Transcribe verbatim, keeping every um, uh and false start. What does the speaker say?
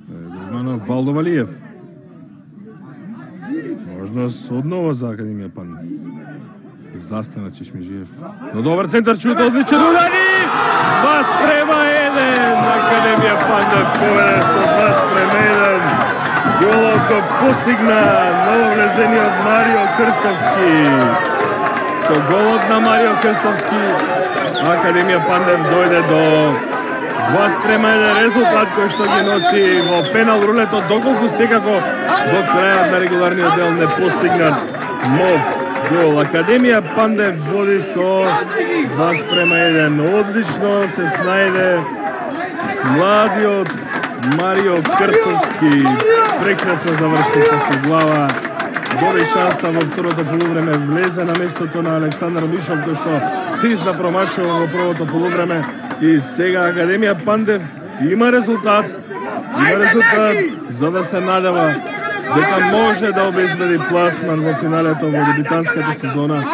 Дурманов, Балдовалиев. Можност одново за Академија Пандев. Застана Чешмежиев. Но добар центар, шут, одличен удар и два спрема еден. Академија Пандев поведе со два спрема еден. Голот го постигна нововлезениот Марио Крстовски. Со голот на Марио Крстовски Академија Пандев дојде до два спрема еден резултат кој што ги носи во пенал рулетот, доколку секако до крајот на регуларниот дел не постигнат нов гол. Академија Пандев води со два спрема еден. Одлично се снајде младиот Марио Крстовски. Прекрасно заврши со глава. Доби шанса во второто полувреме, влезе на местото на Александар Мишов, кој што сизна промашува во првото полувреме. И сега Академија Пандев има резултат. Има резултат за да се надева дека може да обезбеди пласман во финалето во дебитантската сезона.